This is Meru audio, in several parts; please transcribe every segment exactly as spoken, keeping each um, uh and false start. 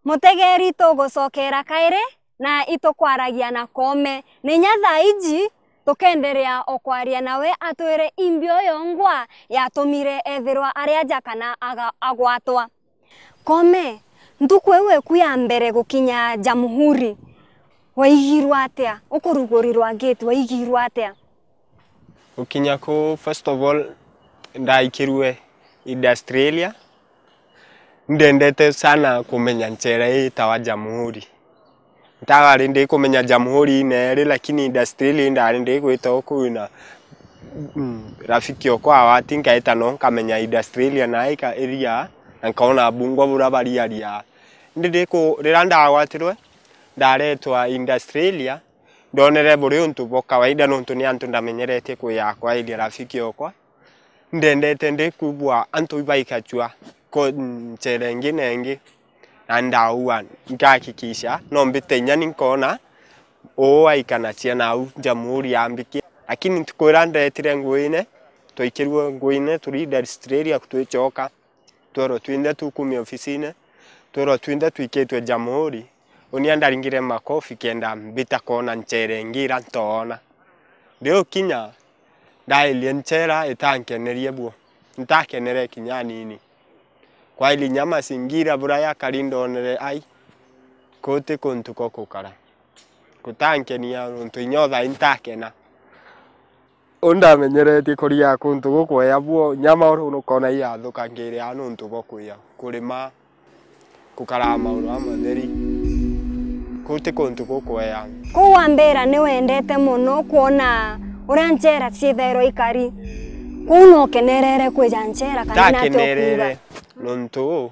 Mutegeri, tugucokera kairi na itukwaragia na Koome. Ni nya thaa iji tukenderea o kwaria nawe atwire imbi uyo ngwa yatumire ethirwa ari aja kana aga-, agwatwa. Koome, ntuku iu eku ya mbere gukinya Jamhuri, waigirwe atia? Ukurugurirwa gate, waigirwe atia? Gukinya kuu, first of all, ndaikirue industrial area. Ndendete sana kumenya nchera ii itawa Jamhuri. Ntagari ndikumenya Jamhuri ina iri, lakini industrial area ndari ndigwita o kuu na, mm, rafiki okwa awati, nkaita no nkamenya industrial area na ika area, na nkaona bungwa bura bariaria. Indi ndiku-, riria ndagwatirwe, ndaretwa industrial area, ndonere buri untu bwa kawaida, nontu ni antu ndamenyeretie kwi yakwa area, rafiki okwa. Ndendete ndikwigua antu ibaikachua ko-, nchera ingi na ingi, na ndaua, nkahakikisha no mbite inya ni nkona uu aikanacia nau Jamhuri yambikia. Lakini ntuku iria ndetire nguine, twaikirue nguine, turi industrial area twichoka, twerwa twinthe tukumia ofisine, twerwa twinthe twikitwe Jamhuri. Uni andaringire makofi kenda mbita koona nchera ingi ira ntoona. Ndiukinya, ndairie nchera itankenerie buo. Ntakenere kinya anini. Kwaili nya masingira bura yakari ndonere ai, kuti kuntu ko kukara. Kutankenia nontu inya uthai ntakena. U ndamenyeretie kuria kuntu gukwea buo, nyama uru nukona iathukangiria nontu bwa kuya, kurima, gukaraga mauru jamatheri. Kuu ti kuntu gukwea. Kuu wambira ni wendete mono kwona uria nchera ciithairwa ikari. Kuu nukenerere kwija nchera kana ni atia ukuuga? Ndakenerere nontu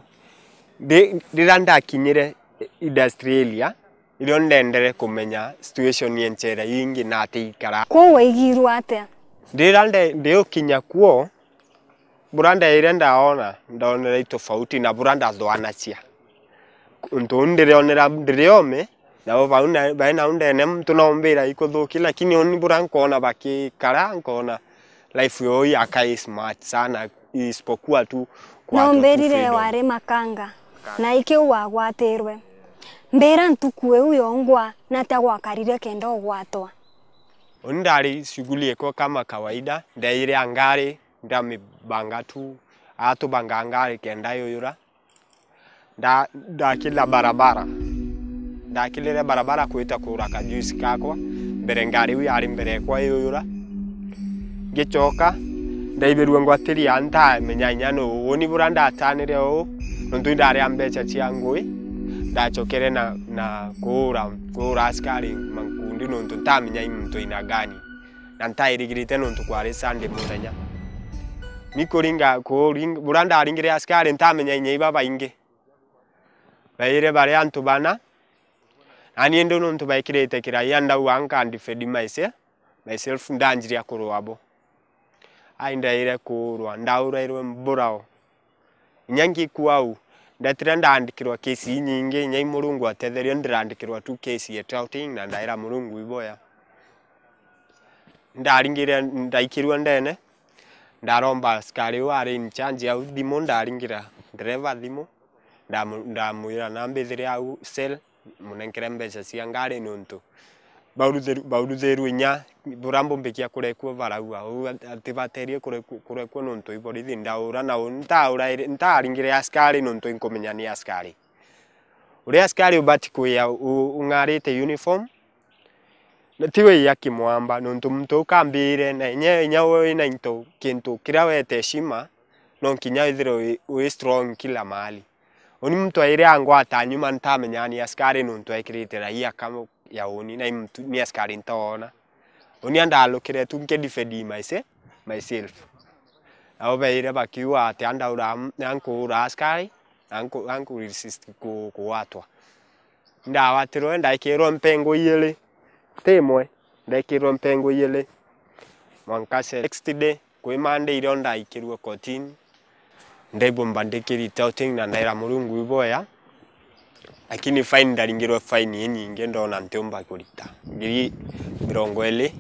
ndi-, riria ndakinyire industrial area, irio ndendere kumenya situation ya nchera ingi na atia ikara. Kuu waigirwe atia? Riria nde-, ndiukinya kuo, bura ndeire ndaona, ndonere i tofauti na bura ndathwanacia. Untu uu ndirionera ndiriome, nabo bau na-, bai nau ndene muntu no umbira ikuthuki, lakini uni bura nkoona bakikara, nkoona life yoo yaka i smart sana, isipokuwa tu kwatwa tu freedom. No mbirire wari makanga, na ikiu wagwatirwe. Mbira ntuku iu yongwa, na atia gwakarire kenda ugwatwa? Uni ndari shughuli ikwa kama kawaida, ndeire a ngari, ndamibanga tu, atubanga ngari kenda yuyura. Nda-, ndakila barabara. Ndakilire barabara kwita kugura kajuice kakwa. Mbere ngari iu yari mbere ekwa yuyura. Ngichoka, ndaibirue ngwatiria ntamenya inya nuu. Uni bura ndatanire uu, nontu indari a mbecha cia ngui, ndachokere na, na kuura, kuura askari mankundi nontu ntamenya i muntu aina gani. Na ntairigirite nontu kwari Sunday muthenya. Ni kuringa, kuring-, bura ndaringire askari ntamenya inya iba baingi. Baire bari antu bana, nani indi nontu baikirite kiraia ndauga nka defend myself, myself ndanjiria kurua bo. Ai ndaire kurua, ndaurairwe mburao. Inya ngikua au, ndetire ndaandikirwa kesi inyingi, inya i Murungu atetherie, ndiraandikirwa tu kesi ya touting, na ndaira Murungu iboya. Ndaringire, ndaikirue ndene, ndaromba askari uu ari in charge au thimu, ndaringira ndereva thimu, ndamu-, ndamwira na mbithire au cell, munenkere mbeca cia ngari nontu bauruthir-, bauruthirue inya bura mbumbikia kurekua baraua. Uu at-, atibaterie kureku-, kurekua nontu i borithi ndaura, na u-, ntauraire, ntaringire askari nontu inkumenya ni askari. Uria askari ubati kwia u-, ung'arite uniform, na ti wia kimwamba, nontu muntu ukambire, na inya, inya wina into, kintu kiria wete heshima, no nkinya withirwe wi, wi strong kila mahali. Uni muntu aire angwata nyuma, ntamenyaga ni askari nontu ekirite raia kama ya uni, na i muntu, ni askari ntoona. Uni andalukire tu nkidefend myse-, myself. Nabo baire bakiuga ati andaura, ankuura askari, anku-, anku resist ku-, kugwatwa. Ndagwatirwe, ndaikirwe mpengo ijiri, ti imwe, ndaikirwe mpengo ijiri. Mwanka se-, next day, kwi Monday irio ndaikirue kotini, ndaigua mbandikiri touting na ndaira Murungu iboya, lakini fine, ndaringirwe fine inyingi, ndona ntiumba kurita ngiri mirongo iri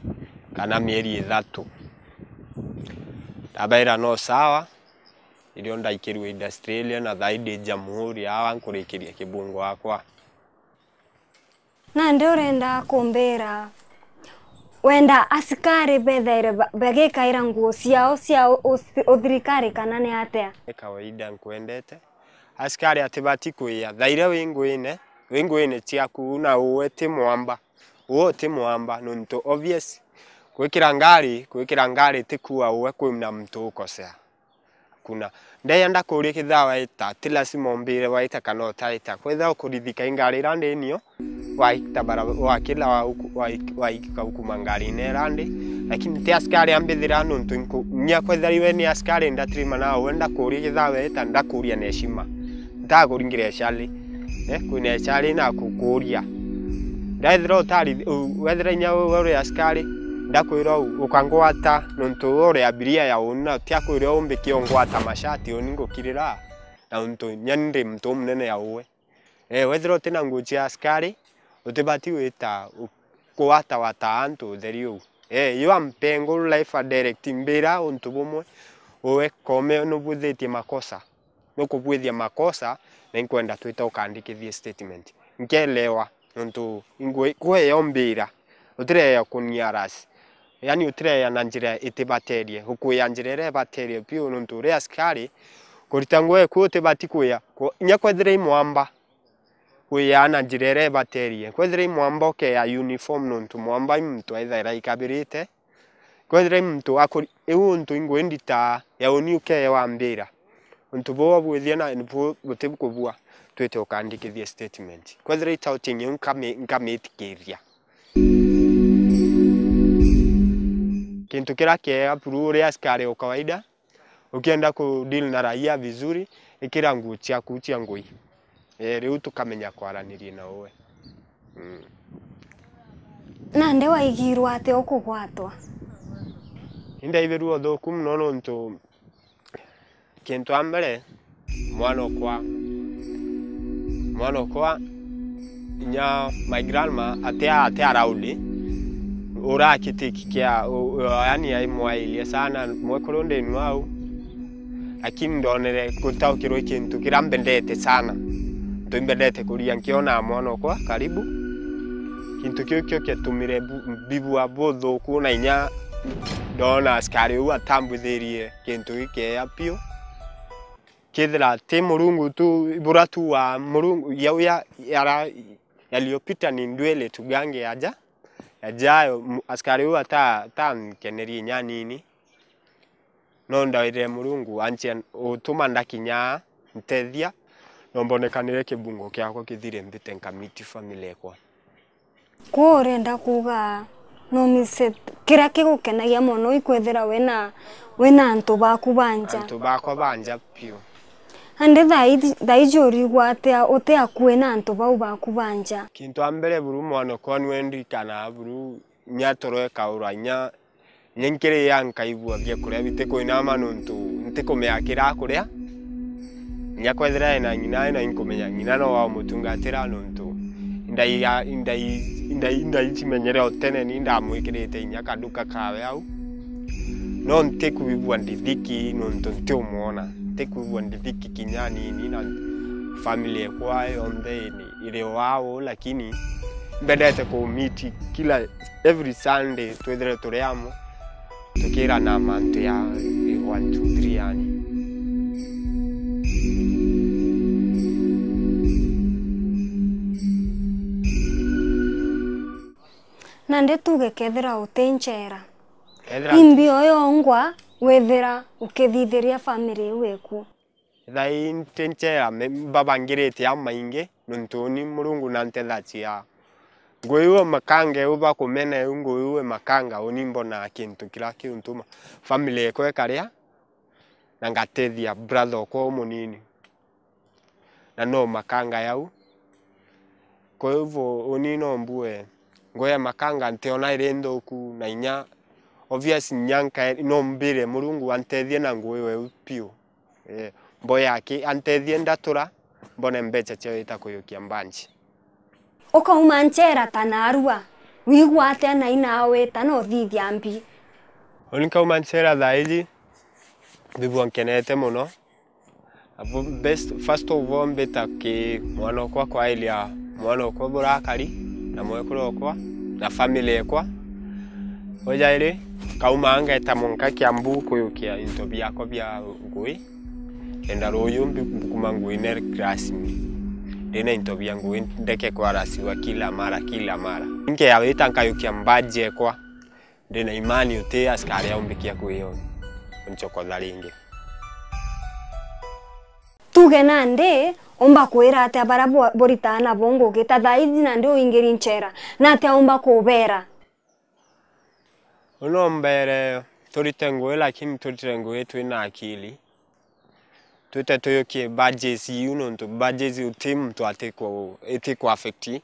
kana mieri ithatu. Ndabaira no sawa, Irio ndaikirue industry iria na thaa ii ndi Jamhuri, awa nkurikiria kibungo akwa. Nandi urenda kumbira, wenda asikari bethaire ba- bagikaira nguo ciao cia u- u- uthirikari kana ni atia? Ni kawaida nkwendete. Asikari atibati kwiya. Thaa iria wi nguine, wi nguine ciaku na uwe ti mwamba. Uwe ti mwamba nontu obvious. Gwikira ngari, gwikira ngari ti kuuga uwe kwina muntu ukosea. Kuna. Ndeya ndakuria kethira waita, ti lazima umbire waita kana utaita. Kwethira ukurithika i ngari ira ndi nio, waita bara-, wakila wa uku-, wa ik-, waika ukuma ngarine ira ndi. Lakini ti askari ambithira nontu inku-, nya kwethira iwe ni askari ndatirima nawe, ndakuria kethira waita, ndakuria na heshima. Ntakuringira ecari. Eh, kwina ecari na kukuria. Ndethira utari, u-, wethira inya we uri askari, ndakwira u-, ukangwata nontu we uri abiria ya uni na tiakwira umbikie ungwata mashati uni ngukirira, na untu inya ndi muntu umunene ya uwe. Eh, wethira utina nguo cia askari, utibati gwita u-, kuwatawata antu utheri uu. Eh, you are mpengo life a direct mbira untu bumwe, uwe kome nubwithitie makosa. Nukubwithia makosa na inkwenda twite ukandikithie statement. Nkelewa nontu ingwe-, kweya umbira, utireya kuniaras. Yaani utireya na njira itibaterie, ukwia njira iria ibaterie piu nontu uri askari, kurita nguo eku utibati kwia, ku-, inya kwethira i mwamba, kwia na njira iria ibaterie. Kwethira i mwamba ukeya uniform nontu mwamba i muntu ethaira ikabirite, Kwethira i muntu akuri-, iu untu ingwe ndita ya uni ukeya wambira. Untu buu bwithia na bu-, buti kubua, twite ukandikithia statement. Kwethira i touting iu nkami-, nkamitikiria. Kintu kiria kiega buru uri askari o kawaida, ukienda ku deal na raia vizuri, ikira nguo ciaku cia ngui. Eh, riu tukamenya kwaraniria na uwe. Mm. Nandi waigirwe atia ukugwatwa? Indaibirue uthuku mono nontu kintu a mbere, mwana okwa, mwana okwa, inya my grandma ati, ati around, urakitiki kia, u-, u-, yaani aimwairie sana mwekuru ndinu au. Lakini ndonere gutaukirwe kintu kiria mbendete sana. Ntu imbendete kuria nkiona mwana okwa karibu. Kintu kiu kio kiatumire bu-, mbigua buthuku na inya ndona askari uu atambwithirie kintu gikeya piu. Kethira ti Murungu tu, bura tu wa Murungu, ya, ya, yara-, yaliyopita ni ndwele tugange yaja, yajayo, mu-, askari uu ata-, atankenerie inya nini. No ndairire Murungu anchia utuma ndakinya ntethia, no mbonekanire kibungo kiakwa kithire mbite nkamiti family ekwa. Kwou urenda kuuga no mise kiria kigukenagia mono ikwethira wina, wina antu baku ba nja? Antu bakwa ba nja piu. Andi thaa iji, thaa iji urigwa atia uti akui na antu bau baku ba nja? Kintu a mbere buru mwanokwa nwe ndikana buru nya toro ekaura nya Inya nkiriya nkaigua biakuria bitikwinama nontu ntikumenya kiria akuria. Inya kwethira ena ng'ina, na inkumenya ng'ina no wa umutungatira nontu indai ya, indai, indai, indai cimenyere o tene ni ndamwikirite inya kaduka kawe au. No ntikwigua ndithiki nontu ntiumwona. Ntikwigua ndithiki kinya anini na family ekwa yonthe ni iri o au, lakini mbendete ku meet kila every Sunday twithire turi amwe tukirana mantu ya one, two, three yani. Nandi tuge kethira uti nchera, ethira imbi o yongwa withira ukithithiria family iu iku? Thaa ii nti nchera me-, mbabangirite a maingi, nontu uni Murungu nantethagia. Ngui iu makanga iu bakumena iu, ngui iu makanga, uni mbonaa kintu kiria kiuntuma family ekwa ikaria, na ngatethia brother okwa umunini. Na no makanga yau. Kwa hivyo, uni no mbue, ngui ya makanga ntiona iri nthuku, na inya, obvious, inya nkae-, no mbire Murungu antethie na ngui iu piu. Eh, mboye aki antethie ndatura, mbone mbeca cia gwita kuyukia mbanji. Ukauma nchera ta narua, wigua atia na ina wita na uthithia mbi? Uni nkauma nchera thaa iji, mbigua nkenete mono, Best, first of all, mbita ki mwana okwa kwairia mwana okwa burakari na mwekuru okwa na family ekwa. Ojairi, kauma ngeta munka Kiambu kuyukia into biakwa bia ngui. Enda ruyu mbi-, mbukuma ngui ne class ni. Ndina into bia ngui ndeke kwarasiwa kila mara, kila mara. Nkeawita nkayukia mbaji ekwa. Ndina imani uti askari aumbikia kwio nchokotha ringi. Tuge nandi, umba kwira atia baria bu-, buritaa nabo ngugi ta thaa iji nandi uingiri nchera? Na atia umba kubera? Uno mbere turite ngui, lakini turite ngui twina akili. Twite tuyukie badges iu, nontu badges uti muntu atiku-, itiku affect.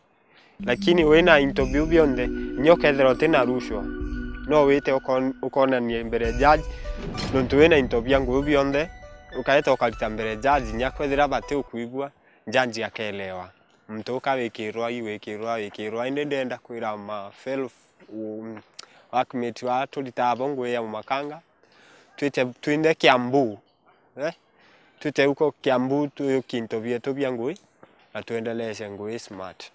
Lakini wina into biu bionthe, inya ukethira utina rushwa, no wite ukon-, ukonania mbere ya judge, nontu wina into bia nguu bionthe, ukaeta ukarita mbere ya judge, inya kwethira bati ukwigua, judge akelewa. Muntu uka wikirwa, i wikirwa, wikirwa. Indi ndenda kwira ma fellow, um, workmate wa turita abo ngui ya Makanga, twite, twinde Kiambu, eh? Twite uko Kiambu tuyukie into bietu bia ngui, na twendeleshe ngui smart.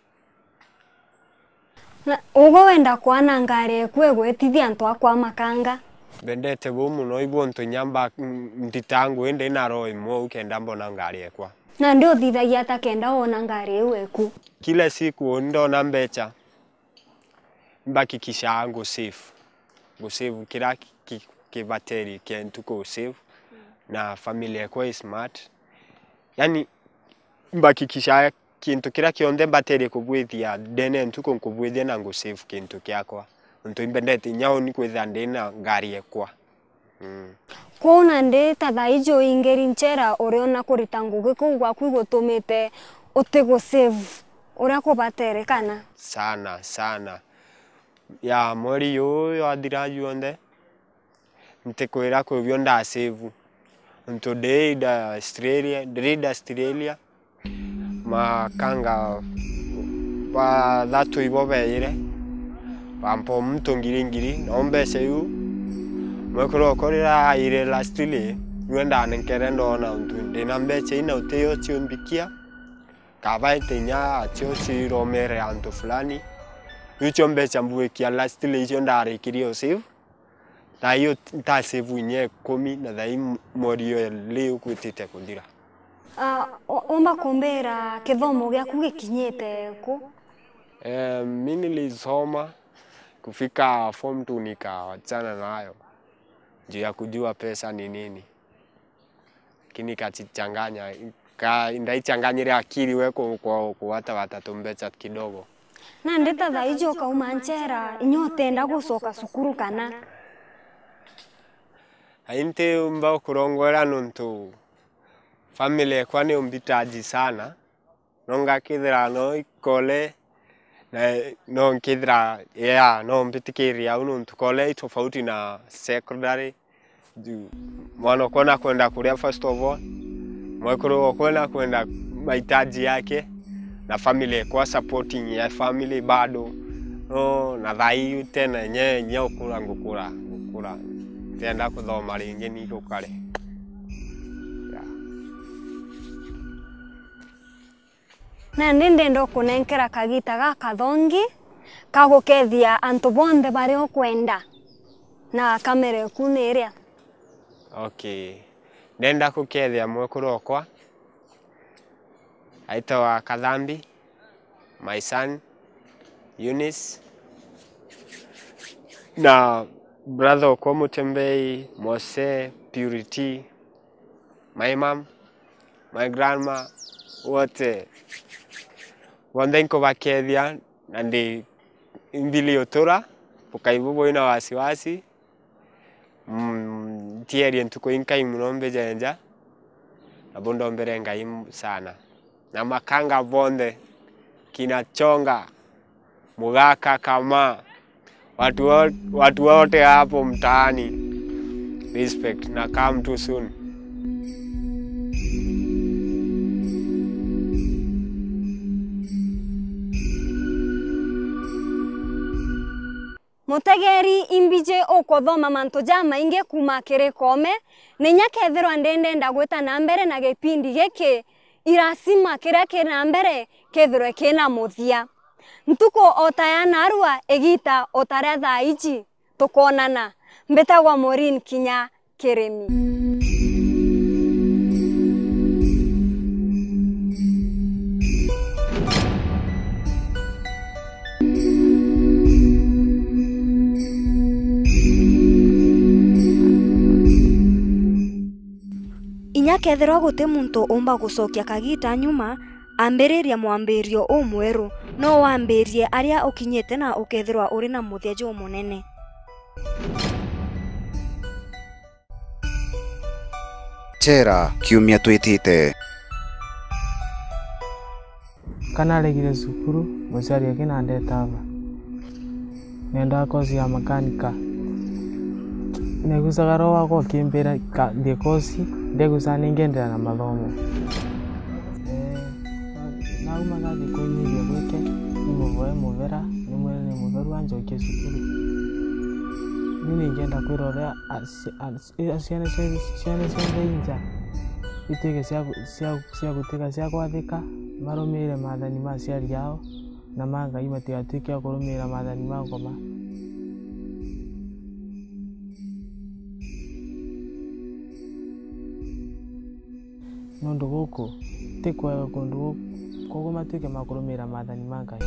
Na ugwe wenda kwana ngari eku igwitithia antu akwa Makanga? Mbendete buu mono, ibu untu inya mba-, m-, ndita ngui ndina roho imwe u kenda mbona ngari ekwa. Nandi uthithagia ata kenda wona ngari iu eku? Kila siku ndona mbecha, mbakikishaa ngu save. Ngu save kira ki-, ki-, kibateri kia ntuku u save, na family ekwa i smart. Yani, mbakikishaa kintu kiria kionthe mbaterie kubwithia ndene ya ntuku, nkubwithia na ngu save kintu kiakwa. Nontu imbendete inya uni kwithira ndina ngari ekwa. Mm. Kwou nandi ta thaa iji uingiri nchera, uriona kurita ngugi kuu gwaku igutumite uti gu save uria kubaterekana? Sana, sana. Ya mweri juu jwathira juonthe, ntikwira kwi bio nda save. Nontu ndiri Australia, ndiri Australia, Makanga bathatu ibo beejire, bampa o muntu ngiri ngiri, nao mbeca iu mwekuru okwa riria aajire lastly, niwe ndanenkere ndoona untu ndina mbeca ii na uti yo ciumbikia, kabaite inya acio ciromere antu fulani. Iu cio mbeca mbuikia lastly icio ndarikirie o save. Thaa ii nta save inya ikumi na thaa ii m-, mweri o riu gwitite kuthira. Ah, u-, umba kumbira kithomo giaku gikinyite ku? Eh, mi nilisoma kufika form two nikawachana nayo juu ya kujua pesa ni nini. Lakini ikachichanganya, ka-, ndaichanganyire akili we ku-, ku-, kuwatawata tumbecha kidogo. Nandi ta thaa iji ukauma nchera, inya utenda gucoka cukuru kana? Ai ntiumba kurongora nontu family ekwa ni umbitaji sana. No ngakithira no ikole, na no nkithira, yeah, no mbitikiria au nontu kole i tofauti na secondary. Juu mwana okwa nakwenda kuria first of all, mwekuru okwa nakwenda mahitaji yake, na family ekwa supporting ya family bado. No, na thaa ii tena nye, nye ukura ngukura, ngukura. Ntienda kuthoma ringi ni gukare. Yeah. Nandi ndenda ukunenkera kagita gakathongi ka gukethia antu bonthe baria ukwenda, na kamera eku ni iria. Okay. Ndenda gukethia mwekuru okwa aitagwa Kathambi, my son, Eunice, na brother okwa Mutembei, Mose, Purity, my mom, my grandma, wote. Bonthe nkubakethia, na ndi mbili utura, bukai bubwina wasiwasi. Mm, ntierie ntuku inkai mono mbijenja, na bundombere Ngai m-, sana. Na makanga bonthe, kina Chonga, Mugaka, Kama, watu wo-, watu wote hapo mtaani, respect na come too soon. Mutegeri imbiji ukuthoma mantu jamaingi kuuma kiri Koome, na inya kethirwa ndi ndenda gwita na mbere na gipindi giki, i lazima kiria kiri na mbere kethirwe kina muthia. Ntuku o ta ya narua, igiita o ta ria thaa iji, tukoonana. Mbitagwa Maureen Kinya Kirimi. Inya kethirwa guti muntu umba gucokia kagiita nyuma, ambiriria mwambirio umweru. No wambirie aria ukinyite na ukethirwa uri na muthia jumunene. Chera kiumia twitite. Kanaregire cukuru, muciari akinandeta ava. Nendaa kosi ya makanika. Negucaga roho wakwa ukimbira ka-, ndie kosi, ndegucaga ningenderea na mathomo. Ee, na-, nauma nathi kwinyithia gwike, nimuvoe muvera, nimwire ni mutheru anjokie cukuru. Riu ningenda kwira uria a-, ci-, a-, ci-, ciana cia, ciana cionthe i nja ituike cia gu-, cia, cia gutuika cia kwathika, marumiire maathani ma aciari ao, na ma Ngai, matigatuike a kurumiira maathani ma ngoma. Nundu guku ti kwega kundu gu-, koguo matuike ma kurumiira maathani ma Ngai.